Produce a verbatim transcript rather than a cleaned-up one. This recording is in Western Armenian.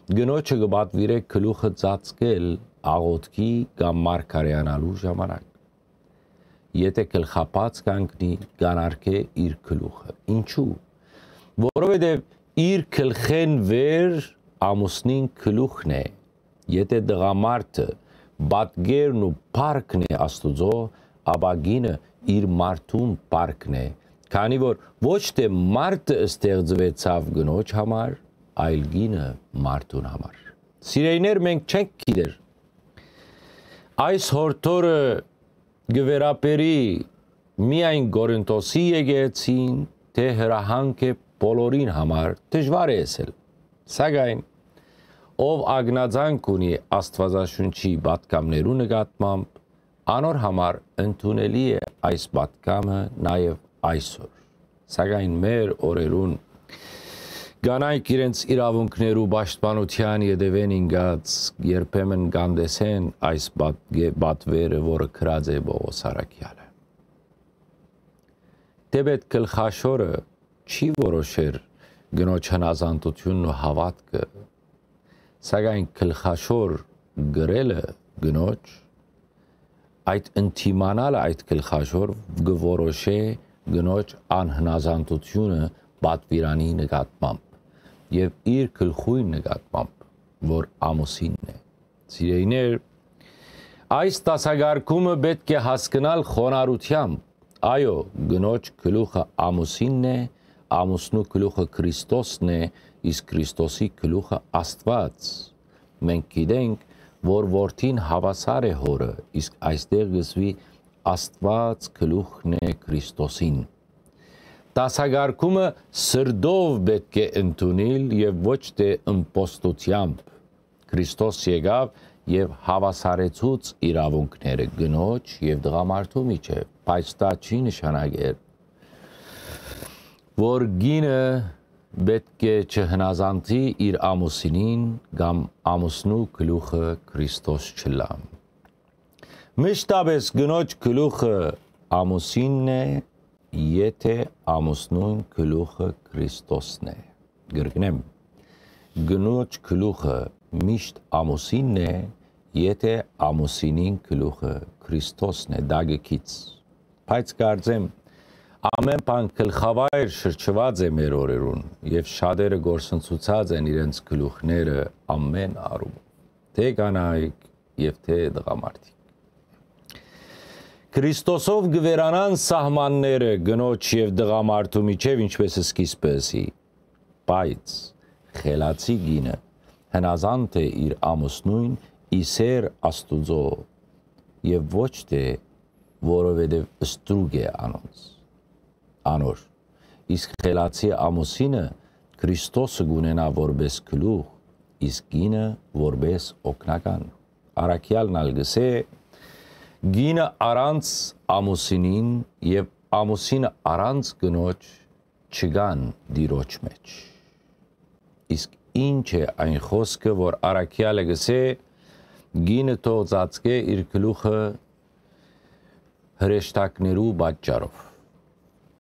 կնոջը կը պատուիրէ գլուխը ծածկել աղօթքի կամ մարգարեանալու ժամանակ։ Եթէ գլխապած կանգնի, կ'անարգէ իր գլուխը։ Ինչու՞։ Որովհետեւ իր գլխէն վեր ամուսնին գլուխն է։ Եթէ տղամարդը պատկերն ու փառքն է Աստուծոյ, ապա կինը իր մարդուն փառքն է, քանի որ ոչ թէ մարդը ստեղծուեցաւ կնոջ համար, այլ կինը մարդուն համար։ Սիրելիներ, մենք չենք գիտեր այս յորդորը կը վերաբերի միայն Կորինթոսի եկեղեցին, թէ հրահանգ է բոլորին համար, դժուար է ըսել։ Սակայն ով ակնածանք ունի Աստուածաշունչի պատգամներու նկատմամբ, անոր համար ընդունելի է այս պատգամը նաեւ այսօր։ Սակայն մեր օրերուն կանայք իրենց իրաւունքներու պաշտպանութեան ետեւէն ինկած երբեմն կ'անտեսեն այս պատկե-, պատվերը, որը գրած է Պողոս առաքեալը։ Թէպէտ գլխաշորը չի որոշեր կնոջ հնազանդութիւնն ու հաւատքը, սակայն գլխաշոր գրելը կնոջ, այդ ընդդիմանալը այդ գլխաշոր կը որոշէ կնոջ անհնազանդութիւնը պատուիրանի նկատմամբ եւ իր գլխոյն նկատմամբ, որ ամուսինն է։ Սիրելիներ, այս դասակարգումը պէտք է հասկնալ խոնարհութեամբ։ Այո, կնոջ գլուխը ամուսինն է, ամուսնու գլուխը Քրիստոսն է, իսկ Քրիստոսի գլուխը Աստուած։ Մենք գիտենք, որ որդին հաւասար է հօրը, իսկ այստեղ կ'ըսուի Աստուած գլուխն է Քրիստոսին։ Դասակարգումը սրտով պէտք է ընդունիլ եւ ոչ թէ ըմպոստութեամբ։ Քրիստոս եկաւ եւ հաւասարեցուց իրաւունքները կնոջ եւ տղամարդու միջեւ, բայց դա չի նշանակեր, որ կինը պէտք է չհնազանդի իր ամուսինին կամ ամուսնու գլուխը Քրիստոս չըլլայ։ Մշտապէս կնոջ գլուխը ամուսինն է, եթէ ամուսնուն գլուխը Քրիստոսն է։ Կրկնեմ, կնոջ գլուխը միշտ ամուսինն է, եթէ ամուսինին գլուխը Քրիստոսն է, դա կը գիծ։ Բայց կարծեմ, ամէն բան գլխավայր շրջուած է մեր օրերուն, եւ շատերը կորսնցուցած են իրենց գլուխները ամէն առում, թէ կանայք եւ թէ տղամարդիկ։ Քրիստոսով կը վերանան սահմանները կնոջ եւ տղամարդու միջեւ, ինչպես սկիզբը ըսի, բայց խելացի կինը հնազանդ է իր ամուսնոյն, ի սեր Աստուծոյ, եւ ոչ թէ որովհետեւ ստրուկ է անոնց, անոր։ Իսկ խելացի ամուսինը Քրիստոսը կ'ունենայ որպէս գլուխ, իսկ կինը որպէս օգնական։ Առաքեալն ալ կ'ըսէ. «Կինը առանց ամուսինին եւ ամուսինը առանց կնոջ չկան Տիրոջ մէջ»։ Իսկ ի՞նչ է այն խօսքը, որ առաքեալը կ'ըսէ. «Կինը թող ծածկէ իր գլուխը հրեշտակներու պատճառով»։